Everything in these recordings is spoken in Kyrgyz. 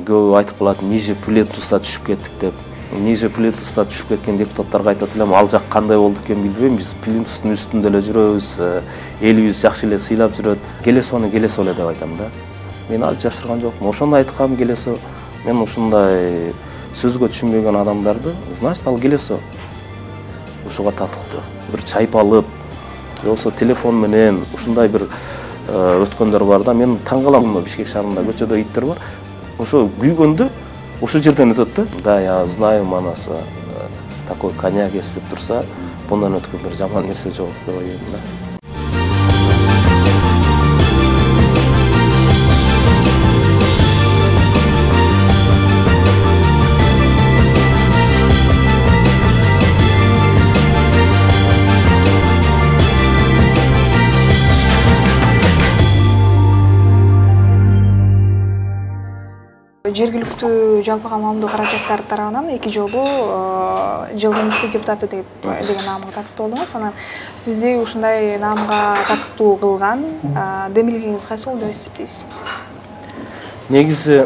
Көбү айтып калат, ниже плинтуса түшүп кеттик деп. Ниже плинтуста түшүп кеткен депутаттарга айтат элем, ал жак кандай болду экен билбейм, биз плинтустун үстүндө эле жүрөбүз, элибиз жакшы эле сыйлап жүрөт. Келесону келесо эле деп айтам да. Мен ал жашырган жокмун. Ошону айткам келесо. Мен ушундай сөзгө түшүнбөгөн адамдарды, значит, ал келесо ушуга татыктуу. Бир чайып алып, же болбосо телефон менен ушундай бир өткөндөр бар да. Мен таң калам, Бишкек шаарында көчөдө иттер бар. Ошо күйгөндө ошол жерден өтөт да. Да, я знаю, манасы такой коньяк эстеп турса, bundan өткөн бир жаман нерсе жок деп ойлойм да. Жергиликтүү жалпыга маамдоо каражаттар тарабынан 2 жолу жылдын мыкты депутаты деген наамга татыктуу болдуңуз. Анан сизди ушундай наамга татыктуу кылган демилгеңиз кайсы болду деп эсептейсиз? Негизи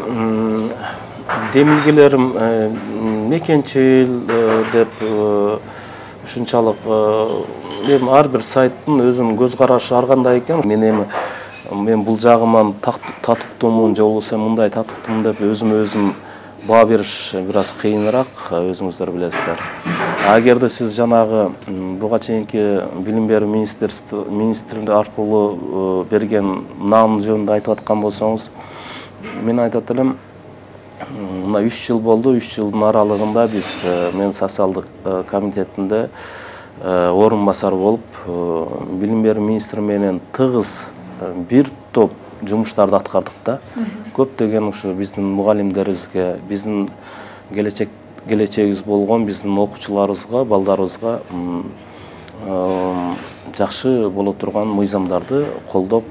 демилгелерим мекенчил деп ушунчалык эми ар бир сайттын өзүнүн көз карашы ар кандай экен. Мен бул жагыман татыктуумун же болбосо мындай татыктуумун деп өзүм баа бериш бир аз кыйыныраак, өзүңүздөр билесиздер. Агерде сиз жанагы буга чейинки билим берүү министри аркылуу берген наам жөнүндө айтып аткан болсоңуз, мен айтат элем, мына 3 жыл болду, 3 жылдын аралыгында биз мен социалдык комитетинде орун басар болуп, билим берүү министри менен тыгыз бир топ жумуштарды аткардык да. Көптөгөн ушу биздин мугалимдерибизге, биздин келечегибиз болгон биздин окуучуларыбызга, балдарыбызга жакшы боло турган мыйзамдарды колдоп,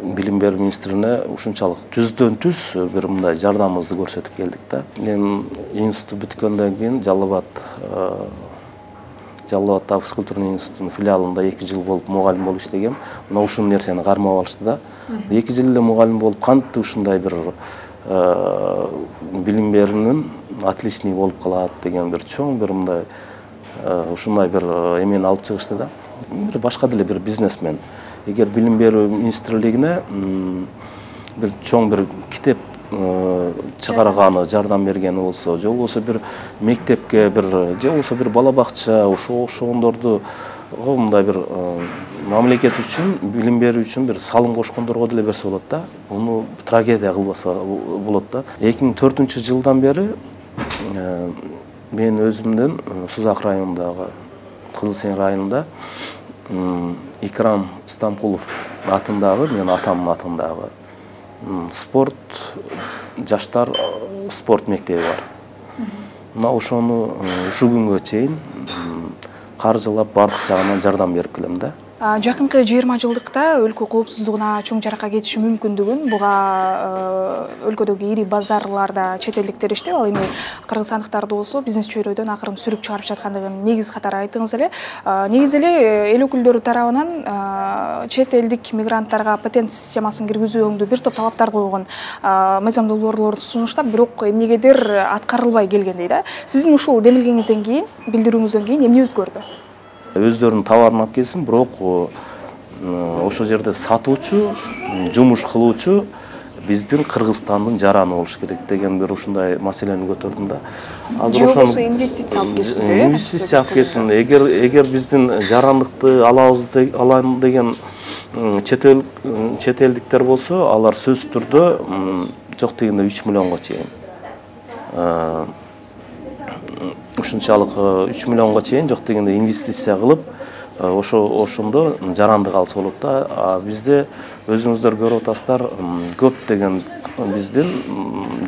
билим берүү министрине ушунчалык түздөн түз бир мындай жардамыбызды көрсөтүп келдик да. Мен институт бүткөндөн кийин Жалал абад физкультурный институтунун филиалында 2 жыл болуп мугалим болуп иштегем. Мына ушул нерсени кармап алышты да. 2 жыл эле мугалим болуп кантип ушундай бир билим берүүнүн отличник болуп калат деген бир чоң бир мындай ушундай бир эмени алып чыгышты да. Бир башка деле бир бизнесмен. Эгер билим берүү министрлигине бир чоң бир китеп чыгарганы, жардам бергени болсо, же болбосо бир мектепке бир, же болбосо бир бала бакча, ошондорду мындай бир мамлекет үчүн, билим берүү үчүн бир салым кошкондорго деле берсе болот да. Муну трагедия кылбаса болот да. 2004-жылдан бери мен өзүмдүн Сузак районундагы, Кызыл Сең районунда Икрам Стамкулов атындагы, менин атамдын атындагы спорт, жаштар спорт мектеби бар. Мына ошону ушу күнгө чейин каржылап бардык жагынан жардам берип келем да. Жакынкы 20 жылдыкта өлкө коопсуздугуна чоң жаракат кетиши мүмкүндүгүн буга өлкөдөгү ири базарларда чет элдиктер иштеп, ал эми кыргызстандыктарды болсо бизнес чөйрөдөн акырын сүрүп чыгарып жаткандыгын негиз катары айттыңыз эле. Негизи эле эл өкүлдөрү тарабынан чет элдик мигранттарга патент системасын киргизүүгө бир топ талаптар койгон мыйзам долбоорлорду сунуштап, бирок эмнегедир аткарылбай келгендей да. Сиздин ушул демилгеңизден кийин, билдирүүңүздөн кийин эмне өзгөрдү? Өздөрүнүн товарын алып келсин, бирок ошол жерде сатуучу, жумуш кылуучу биздин Кыргызстандын жараны болуш керек деген бир ушундай маселени көтөрдүм да. Азыр ошону инвестиция алып келсин, инвестиция алып келсин. Эгер биздин жарандыкты алам деген чет элдиктер болсо, алар сөзсүз түрдө жок дегенде 3 миллионго чейин. Ушунчалык 3 миллионго чейин жок дегенде инвестиция кылып, ошондо жарандык алса болот да. Бизде өзүңүздөр көрүп атасыздар, көп деген биздин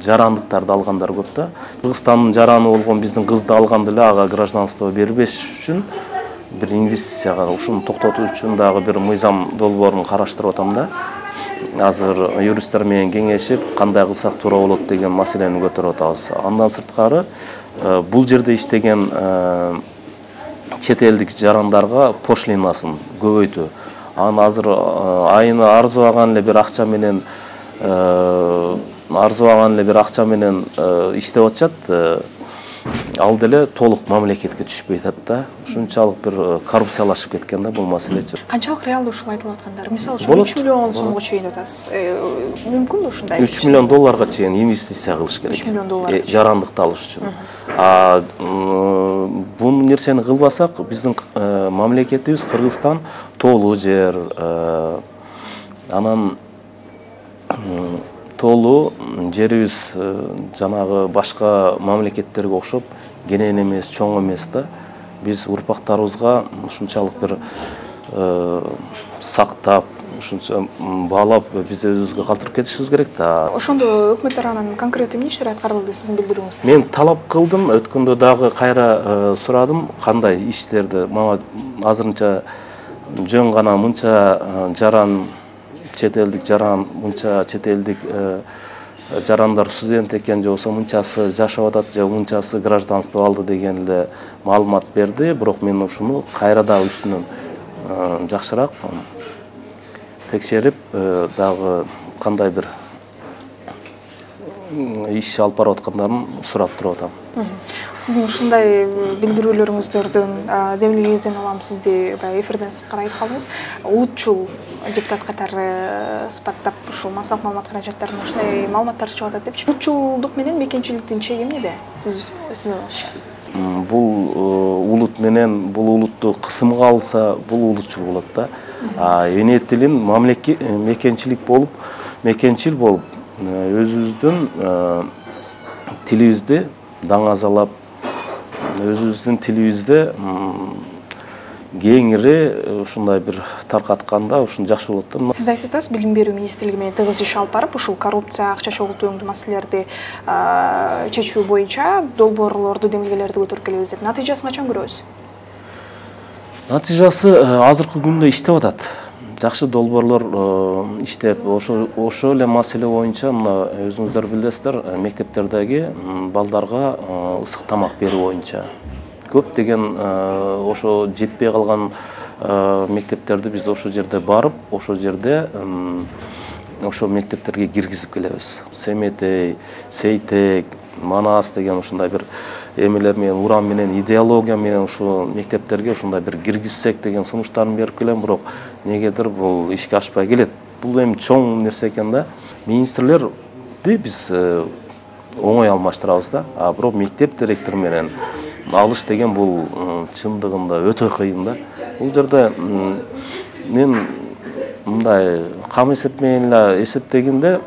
жарандыктарды алгандар көп да. Кыргызстандын жараны болгон биздин кызды алганда эле ага гражданство бербеш үчүн бир инвестицияга ушуну токтотуу үчүн дагы бир мыйзам долбоорун караштырып атам да. Азыр юристтер менен кеңешип, кандай кылсак туура болот деген маселени көтөрүп атабыз. Андан сырткары бул жерде иштеген чет элдик жарандарга пошлинасын көбөйтүү. Аны азыр айына арзыбаган эле бир акча менен арзыбаган эле бир акча менен иштеп атышат, ал деле толук мамлекетке түшпөй атат да. Ушунчалык бир коррупциялашып кеткен да бул маселечи. Канчалык реалдуу ушул айтылып аткандар? Мисалы үчүн 3 миллион сомго чейин атасыз. Мүмкүнбү ушундай? 3 миллион долларга чейин инвестиция кылыш керек. 3 миллион доллар. Жарандыкты алыш үчүн. Бул нерсени кылбасак, биздин мамлекетибиз Кыргызстан тоолуу жер, анан тоолуу жерибиз жанагы башка мамлекеттерге окшоп кенен эмес, чоң эмес да. Биз урпактарыбызга ушунчалык бир сактап, ушунча баалап биз өзүбүзгө калтырып кетишибиз керек да. Ошондо өкмөт тарабынан конкреттүү эмне иштер аткарылды сиздин билдирүүңүздө? Мен талап кылдым, өткөндө дагы кайра сурадым, кандай иштерди. Мага азырынча жөн гана мынча жаран, чет элдик жаран, мынча чет элдик жарандар студент экен, же болбосо мынчасы жашап атат, же мынчасы гражданство алды деген эле маалымат берди. Бирок мен ушуну кайра дагы үстүнөн жакшыраак текшерип, дагы кандай бир иш алып барып аткандарын сурап туруп атам. Сиздин ушундай билдирүүлөрүңүздөрдөн демилгеңизден улам сизди баягы эфирден сырткары айтып калдыңыз. Улутчул депутат катары сыпаттап ушул массалык маалымат каражаттарына ушундай маалыматтар чыгып атат депчи. Улутчулдук менен мекенчиликтин чеги эмнеде? Сиздин оюңузча? Бул улут менен бул улутту кысымга алса, бул улутчул болот да. Эне тилин мекенчил болуп, өзүбүздүн тилибизди даңазалап, өзүбүздүн тилибизди кеңири ушундай бир таркатканда ушун жакшы болот да. Сиз айтып атасыз, билим берүү министрлиги менен тыгыз иш алып барып, ушул коррупция, акча чогултууңдуу маселелерди чечүү боюнча долбоорлорду, демилгелерди көтөрүп келебиз деп. Натыйжасын качан көрөбүз? Натыйжасы азыркы күндө иштеп атат. Жакшы долбоорлор иштеп, ошо эле маселе боюнча мына өзүңүздөр билесиздер, мектептердеги балдарга ысык тамак берүү боюнча көптөгөн ошо жетпей калган мектептерди биз ошо жерде барып, ошо жерде ошо мектептерге киргизип келебиз. Семетей, Сейтек, Манас деген ушундай бир эмелер менен, урам менен, идеология менен ушу мектептерге ушундай бир киргизсек деген сунуштарын берип келем, бирок негедир бул ишке ашпай келет. Бул эми чоң нерсе экен да. Министрлерди биз оңой алмаштырабыз да, бирок мектеп директору менен алыш деген бул чындыгында өтө кыйын да. Бул жерде мен мындай кам эсеп менен эле эсептегенде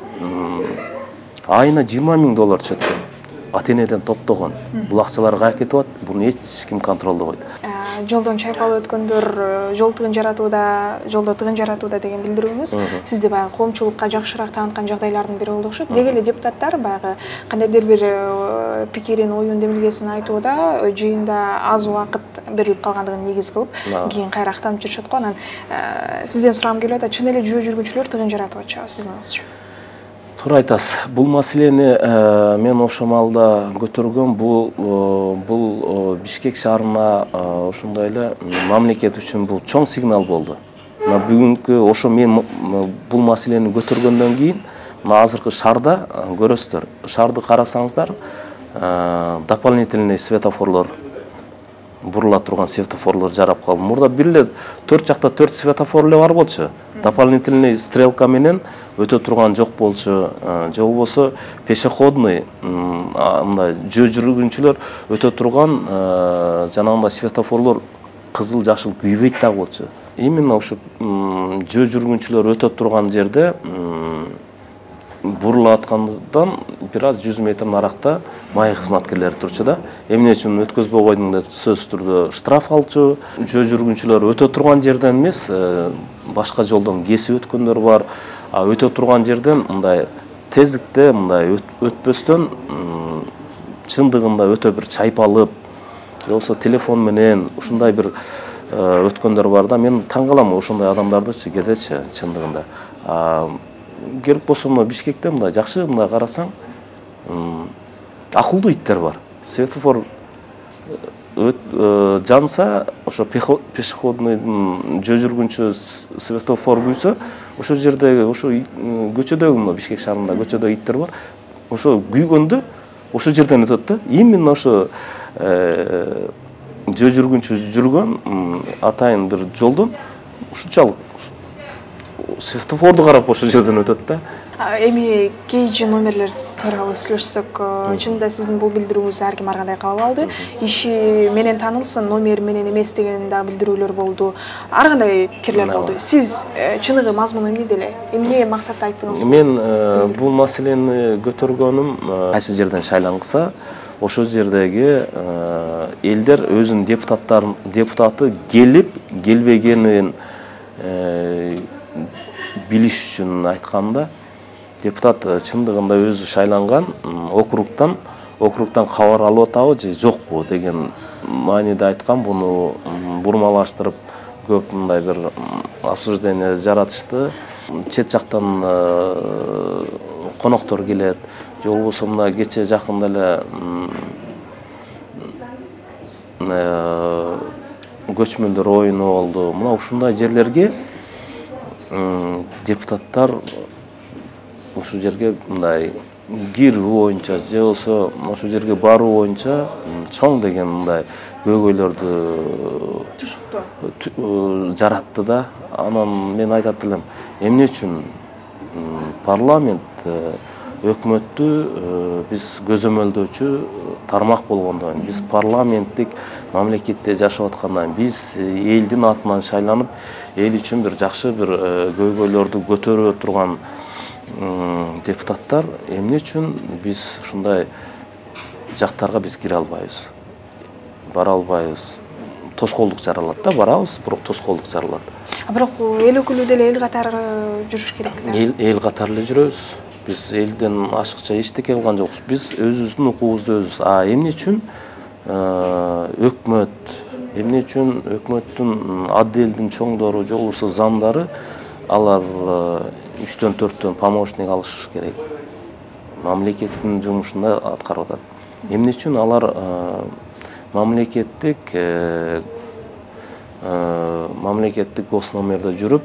айына 20 000 доллар түшөт экен. Ата-энеден топтогон. Бул акчалар кайда кетип атат? Буну эч ким контролдобойт. Жолдон чайпалып өткөндөр жолдо тыгын жаратууда деген билдирүүңүз сизди баягы коомчулукка жакшыраак тааныткан жагдайлардын бири болду окшойт. Деги эле депутаттар баягы кандайдыр бир пикирин, оюн, демилгесин айтууда жыйында аз убакыт берилип калгандыгын негиз кылып, кийин кайра актанып жүрүшөт го. Анан сизден сурагым келип атат, чын эле жөө жүргүнчүлөр тыгын жаратып атышабы сиздин оюңузча? Туура айтасыз. Бул маселени мен ошо маалда көтөргөм. Бул Бишкек шаарына ошондой эле мамлекет үчүн бул чоң сигнал болду. Мына бүгүнкү ошо мен бул маселени көтөргөндөн кийин мына азыркы шаарда көрөсүздөр. Шаарды карасаңыздар, дополнительный светофорлор, бурула турган светофорлор жарап калды. Мурда бир эле 4 жакта 4 светофор эле бар болчу. Дополнительный стрелка менен өтө турган жок болчу. Же болбосо пешеходный мындай жөө жүргүнчүлөр өтө турган жанагындай светофорлор кызыл, жашыл күйбөйт дагы болчу. Именно ушу жөө жүргүнчүлөр өтө турган жерде бурула аткандан бир аз 100 метр наракта май кызматкерлери турчу да. Эмне үчүн өткөзбөй койдуң деп сөзсүз түрдө штраф алчу. Жөө жүргүнчүлөр өтө турган жерден эмес, башка жолдон кесип өткөндөр бар. Өтө турган жерден мындай тездикте мындай өтпөстөн чындыгында өтө бир чайпалып, же болбосо телефон менен ушундай бир өткөндөр бар да. Мен таң калам ошондой адамдардычы кедечи чындыгында. Керек болсо мына Бишкекте мындай жакшы мындай карасаң акылдуу иттер бар. Светофор жанса, ошо пешеходный жөө жүргүнчү светофор күйсө, ошол жердеги ошо көчөдөгү мына Бишкек шаарында көчөдө иттер бар. Ошо күйгөндө ошол жерден өтөт да. Именно ошо жөө жүргүнчү жүргөн атайын бир жолдон ушунчалык светофорду карап ошол жерден өтөт да. Эми KG номерлер тууралуу сүйлөшсөк, чынында сиздин бул билдирүүңүздү ар ким ар кандай кабыл алды. Иши менен таанылсын, номер менен эмес деген да билдирүүлөр болду. Ар кандай пикирлер болду. Сиз чыныгы мазмуну эмне деле? Эмне максатта айттыңыз? Мен бул маселени көтөргөнүм кайсы жерден шайлангыса, ошол жердеги элдер өзүнүн депутаты келип, келбегенин билиш үчүн айтканда, депутат чындыгында өзү шайланган округтан кабар алып атабы же жокпу деген мааниде айткан. Буну бурмалаштырып көп мындай бир обсуждение жаратышты. Чет жактан коноктор келет, же болбосо мына кече жакында эле көчмөндөр оюну болду. Мына ушундай жерлерге депутаттар ушул жерге мындай кирүү боюнча же болбосо ошол жерге баруу боюнча чоң деген мындай көйгөйлөрдү жаратты да. Анан мен айтат элем, эмне үчүн парламент өкмөттү биз көзөмөлдөөчү тармак болгондон, биз парламенттик мамлекетте жашап аткандан, биз элдин атынан шайланып, эл үчүн бир жакшы бир көйгөйлөрдү көтөрө турган депутаттар эмне үчүн биз ушундай жактарга биз кире албайбыз, бара албайбыз? Тоскоолдук жаралат да, барабыз, бирок тоскоолдук жаралат. Бирок эл өкүлү деле эл катары жүрүш керек да. Эл катары эле жүрөбүз. Биз элден ашыкча эчтеке кылган жокпуз. Биз өзүбүздүн укугубузду өзүбүз. Эмне үчүн өкмөт, эмне үчүн өкмөттүн отделдин чоңдору же болбосо замдары алар 3-төн 4-төн помощник алыш керек. Мамлекеттин жумушунда аткарып атат. Эмне үчүн алар мамлекеттик госномерде жүрүп,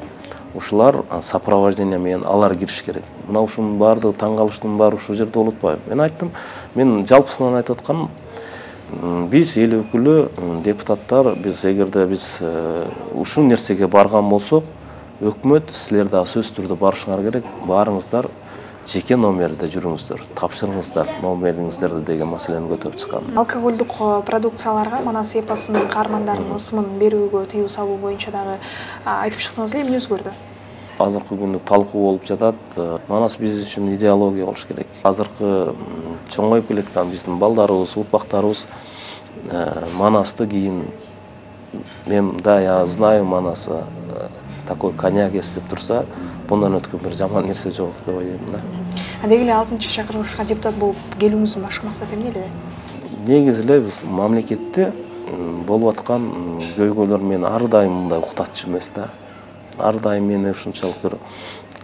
ушулар сопровождение менен алар кириш керек. Мына ушунун баардыгы таң калыштын баары ушул жерде болуп атпайбы? Мен айттым, мен жалпысынан айтып атканым, биз эл өкүлү, депутаттар, биз эгерде биз ушул нерсеге барган болсок, өкмөт силер дагы сөзсүз түрдө барышыңар керек, баарыңыздар жеке номерде жүрүңүздөр, тапшырыңыздар номериңиздерди деген маселени көтөрүп чыккан. Алкоголдук продукцияларга Манас эпосунун каармандарынын ысымын берүүгө тыюу салуу боюнча дагы айтып чыктыңыз эле, эмне өзгөрдү? Азыркы күнү талкуу болуп жатат. Манас биз үчүн идеология болуш керек. Азыркы чоңоюп келаткан биздин балдарыбыз, урпактарыбыз Манасты кийин, мен да, я знаю Манаса, такой коньяк эстеп турса, bundan өткөн бир жаман нерсе жок деп ойлойм да. Деги эле 6-чакырылышка депутат болуп келүүңүздүн башкы максаты эмне эле? Негизи эле биз мамлекетте болуп аткан көйгөйлөр мени ар дайым мындай уктатчу эмес да. Ар дайым мени ушунчалык бир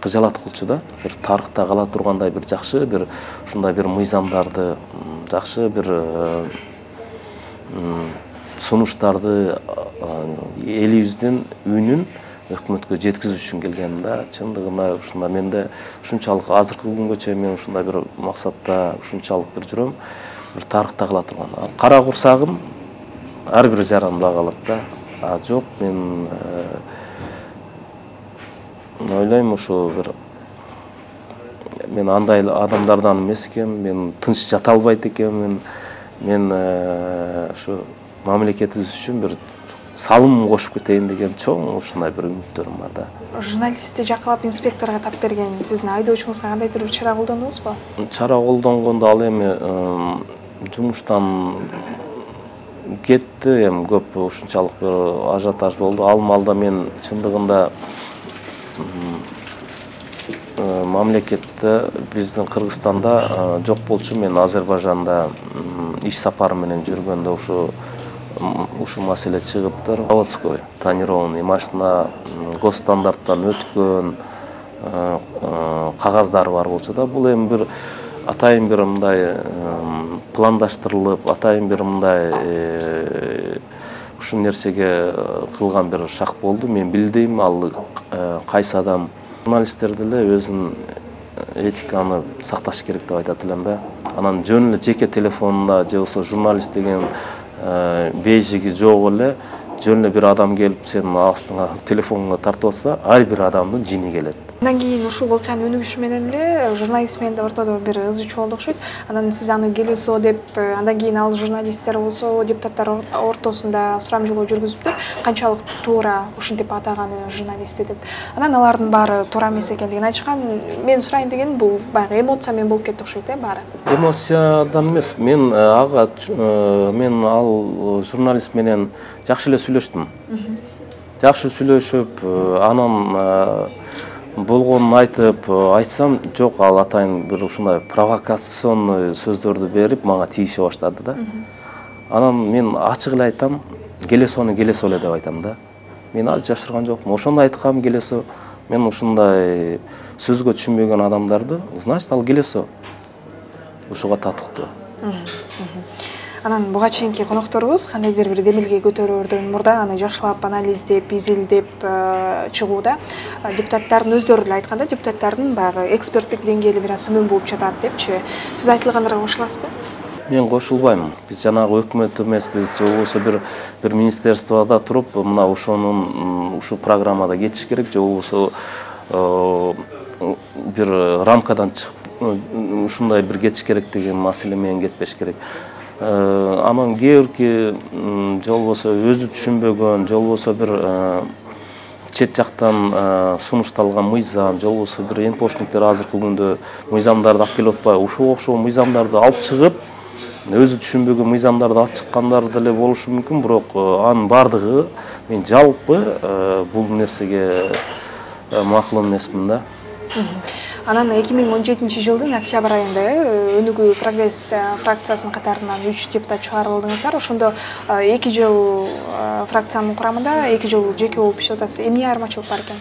кыжалаткылчу да. Бир тарыхта кала тургандай бир жакшы бир ушундай бир мыйзамдарды, жакшы бир сунуштарды элибиздин үнүн өкмөткө жеткизүү үчүн келгем да. Чындыгында ушунда менде ушунчалык азыркы күнгө чейин мен ушундай бир максатта ушунчалык бир жүрөм, бир тарыхта кала турган. Кара курсагым ар бир жаранымда калат да. Жок, мен ойлойм ушу бир мен андай адамдардан эмес экенмин, мен тынч жата албайт экенмин. Мен ушу мамлекетибиз үчүн бир салым кошуп кетейин деген чоң ушундай бир үмүттөрүм бар да. Журналистти жакалап инспекторго тап берген сиздин айдоочуңузга кандайдыр бир чара колдондуңузбу? Чара колдонгондо ал эми жумуштан кетти, эми көп ушунчалык бир ажиотаж болду. Ал маалда мен чындыгында мамлекетте биздин Кыргызстанда жок болчу. Мен Азербайжанда иш сапары менен жүргөндө ушу маселе чыгыптыр. Заводской тонированный машина госстандарттан өткөн, кагаздары бар болчу да. Бул эми бир атайын бир мындай пландаштырылып, атайын бир мындай ушул нерсеге кылган бир шак болду. Мен билдим, ал кайсы адам. Журналисттер деле өзүнүн этиканы сакташ керек деп айтат элем да. Анан жөн эле жеке телефонунда же болбосо журналист деген бейжиги жок эле жөн эле бир адам келип сенин астыңа телефонуңа тартып алса, ар бир адамдын жини келет. Андан кийин ушул окуянын өнүгүшү менен эле журналист менен ортодо бир ыз чуу болду окшойт. Анан сиз аны келесо деп, андан кийин ал журналисттер болсо депутаттар ортосунда сурамжылоо жүргүзүптүр. Канчалык туура ушинтип атаганы журналистти деп. Анан алардын баары туура эмес экендигин айтышкан. Мен сурайын дегеним бул баягы эмоция менен болуп кетти окшойт, баары. Эмоциядан эмес. Мен ал журналист менен жакшы эле сүйлөштүм. Жакшы сүйлөшүп, анан болгонун айтсам, жок, ал атайын бир ушундай провокационный сөздөрдү берип, мага тийише баштады да. Анан мен ачык эле айтам, келесону келесо эле деп айтам да. Мен аз жашырган жокмун. Ошондо айткам, келесо. Мен ушундай сөзгө түшүнбөгөн адамдарды, значит, ал келесо. Ушуга татыктуу. Анан буга чейинки конокторубуз кандайдыр бир демилге көтөрөөрдөн мурда аны жакшылап анализдеп, изилдеп чыгууда депутаттардын өздөрү эле айтканда, депутаттардын баягы эксперттик деңгээли бир аз төмөн болуп жатат депчи. Сиз айтылгандарга кошуласызбы? Мен кошулбайм. Биз жанагы өкмөт эмеспиз, же болбосо бир министерствода туруп, мына ушул программада кетиш керек, же болбосо бир рамкадан чыгып ушундай бир кетиш керек деген маселе менен кетпеш керек. Анан кээ бирки же болбосо өзү түшүнбөгөн, же болбосо бир чет жактан сунушталган мыйзам, же болбосо бир энпошниктер азыркы күндө мыйзамдарды алып келип атпайбы, ушуга окшогон мыйзамдарды алып чыгып, өзү түшүнбөгөн мыйзамдарды алып чыккандар деле болушу мүмкүн, бирок анын бардыгы мен жалпы бул нерсеге макул эмесмин да. Анан 2017-жылдын октябрь айында Өнүгүү Прогресс фракциясынын катарынан 3 депутат чыгарылдыңыздар. Ошондо 2 жыл фракциянын курамында, 2 жыл жеке болуп иштеп атасыз. Эмне айырмачылык бар экен?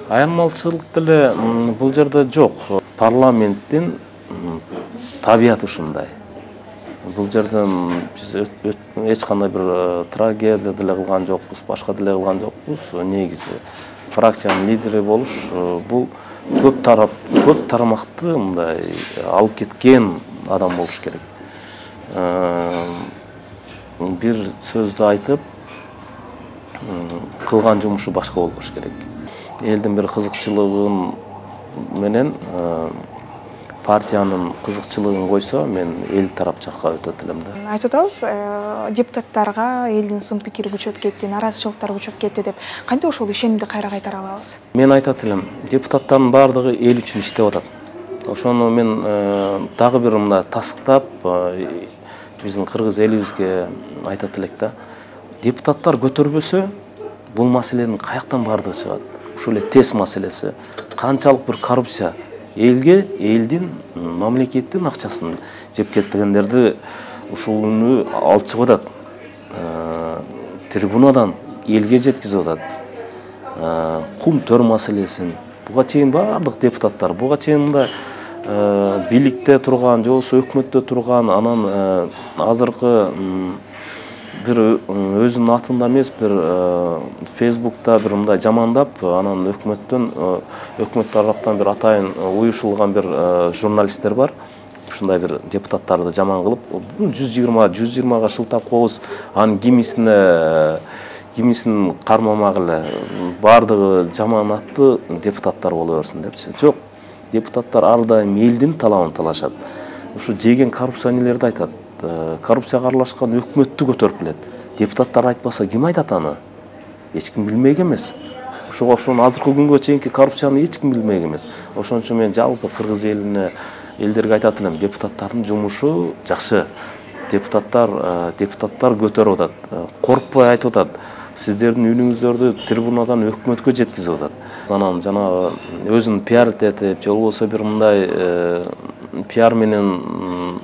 Айырмачылык деле бул жерде жок. Парламенттин табияты ушундай. Бул жерден биз эч кандай бир трагедия деле кылган жокпуз, башка деле кылган жокпуз. Негизи фракциянын лидери болуш бул көп тарамакты мындай алып кеткен адам болуш керек. Бир сөздү айтып, кылган жумушу башка болбош керек. Элдин бир кызыкчылыгын менен партиянын кызыкчылыгын койсо, мен эл тарап жакка өтөт элем да. Айтып атабыз, депутаттарга элдин сын пикири күчөп кетти, наразычылыктар күчөп кетти деп. Кантип ошол ишенимди кайра кайтара алабыз? Мен айтат элем, депутаттардын бардыгы эл үчүн иштеп атат. Ошону мен дагы бир мындай тастыктап, биздин кыргыз элибизге айтат элек да. Депутаттар көтөрбөсө, бул маселенин каяктан бардыгы чыгат? Ушул эле тез маселеси. Канчалык бир коррупция элге, элдин, мамлекеттин акчасын жеп кеткендерди ушуну алып чыгып атат. Трибунадан элге жеткизип атат. Кум төр маселесин. Буга чейин бардык депутаттар, буга чейин мындай бийликте турган, же болбосо өкмөттө турган, анан азыркы бир өзүнүн атында эмес, бир Facebook'та бир мындай жамандап, анан өкмөт тараптан бир атайын уюшулган бир журналисттер бар. Ушундай бир депутаттарды жаман кылып, 120га шылтап коебуз, анын кимисин кармамак эле бардыгы жаман аттуу депутаттар боло берсин депчи. Жок, депутаттар ар дайым элдин талабын талашат. Ушу жеген коррупционерлерди айтат. Коррупцияга аралашкан өкмөттү көтөрүп келет. Депутаттар айтпаса ким айтат аны? Эч ким билмек эмес. Ошого окшогон азыркы күнгө чейинки коррупцияны эч ким билмек эмес. Ошон үчүн мен жалпы кыргыз элдерге айтат элем, депутаттардын жумушу жакшы. Депутаттар көтөрүп атат. Коркпой айтып атат. Сиздердин үнүңүздөрдү трибунадан өкмөткө жеткизип атат. Анан жанагы өзүн пиар этип, же болбосо бир мындай пиар менен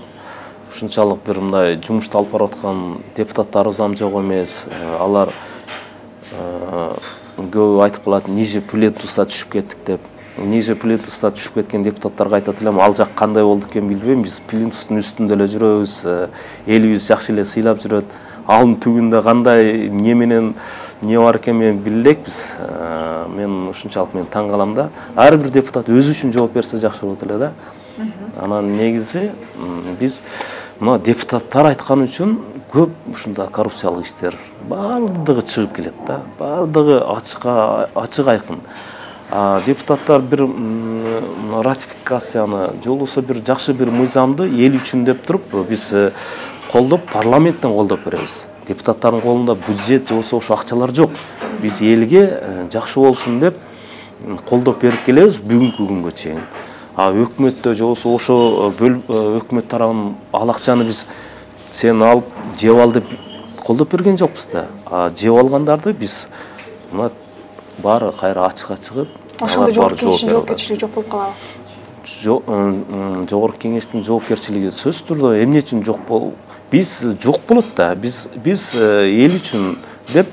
ушунчалык бир мындай жумушту алып барып аткан депутаттарыбыз жок эмес. Алар көбү айтып калат, ниже плинтуса түшүп кеттик деп. ниже плинтуста түшүп кеткен депутаттарга айтат элем, ал жак кандай болду экен билбейм, биз плинтустун үстүндө эле жүрөбүз, элибиз жакшы эле сыйлап жүрөт. Алдын түбүндө кандай эмне менен не бар экен мен биле элекпиз. Мен ушунчалык мен таң калам да. Ар бир депутат өзү үчүн жооп берсе жакшы болот эле да. Анан негизи биз мына депутаттар айткан үчүн көп ушундай коррупциялык иштер баардыгы чыгып келет да. Баардыгы ачык айкын. Депутаттар бир ратификацияны же болбосо бир жакшы бир мыйзамды эл үчүн деп туруп биз колдоп парламенттен колдоп беребиз. Депутаттардын колунда бюджет же болбосо ошо акчалар жок. Биз элге жакшы болсун деп колдоп берип келебиз бүгүнкү күнгө чейин. Өкмөттө же болбосо ошо өкмөт тарабынан ал акчаны биз сен алып жеп ал деп колдоп берген жокпуз да. Жеп алгандарды биз мына баары кайра ачыкка чыгып, ошондо жогорку кеңештин жоопкерчилиги жок болуп калабы? Жогорку кеңештин жоопкерчилиги сөзсүз түрдө эмне үчүн жок болуп, биз жок болот да. Биз эл үчүн деп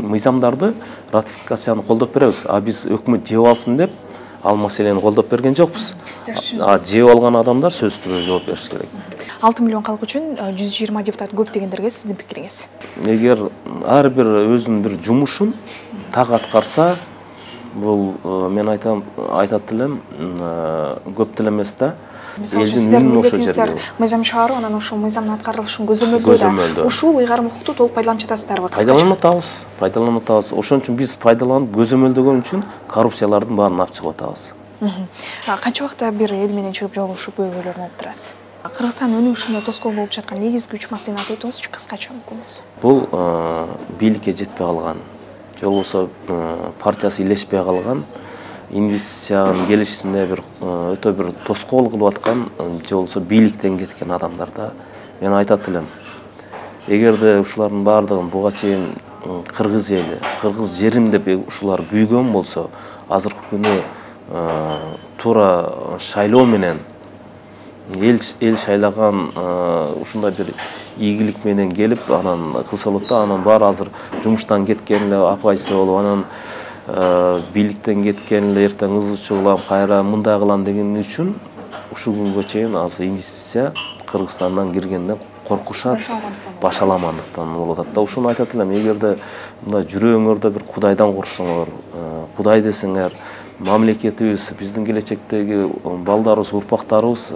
мыйзамдарды ратификацияны колдоп беребиз. Биз өкмөт жеп алсын деп ал маселени колдоп берген жокпуз. Жеп алган адамдар сөзсүз түрдө жооп бериш керек. 6 миллион калк үчүн 120 депутат көп дегендерге сиздин пикириңиз? Эгер ар бир өзүнүн бир жумушун так аткарса, бул мен айтат элем, көп деле эмес да. Элдин үнүн ошо жерге. Мыйзам чыгаруу, анан ошол мыйзамдын аткарылышын көзөмөлдөө да. Ушул ыйгарым укукту толук пайдаланып жатасыздарбы? Пайдаланып атабыз. Ошон үчүн биз пайдаланып көзөмөлдөгөн үчүн коррупциялардын баарын алып чыгып атабыз. Канча убакта бир эл менен чыгып жолугушуп көйгөйлөрүн алып турасыз? Кыргызстан өнүгүшүнө тоскоол болуп жаткан негизги 3 маселени айтып өтүңүзчү, кыскача мүмкүн болсо. Бул бийликке жетпей калган, же болбосо партиясы илешпей калган, инвестициянын келишине бир өтө бир тоскоол кылып аткан, же болбосо бийликтен кеткен адамдарда мен айтат элем. Эгерде ушулардын баардыгын буга чейин кыргыз эли, кыргыз жерим деп ушулар күйгөн болсо, азыркы күнү туура шайлоо менен эл шайлаган ушундай бир ийгилик менен келип, анан кылса болот да. Анан баары азыр жумуштан кеткен эле апайсы болуп, анан бийликтен кеткен эле эртең ызычы кылам, кайра мындай кылам деген үчүн ушул күнгө чейин азыр инвестиция Кыргызстандан киргенден коркушат, башаламандыктан болуп атат да. Ушуну айтат элем, эгерде мындай жүрөгүңөрдө бир Кудайдан корксоңор, Кудай десеңер, мамлекетибиз, биздин келечектеги балдарыбыз, урпактарыбыз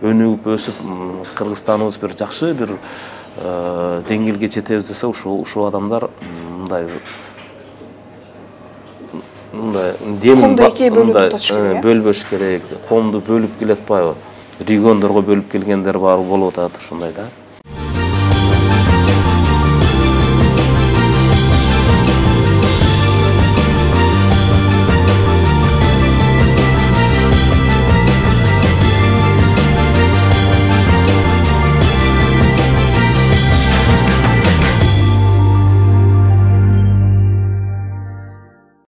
өнүгүп өсүп, Кыргызстаныбыз бир жакшы бир деңгээлге жетебиз десе, ушул адамдар мындай коомду экиге бөлбөш керек, коомду бөлүп келе атпайбы? Региондорго бөлүп келгендер бар болуп атат ушундай да.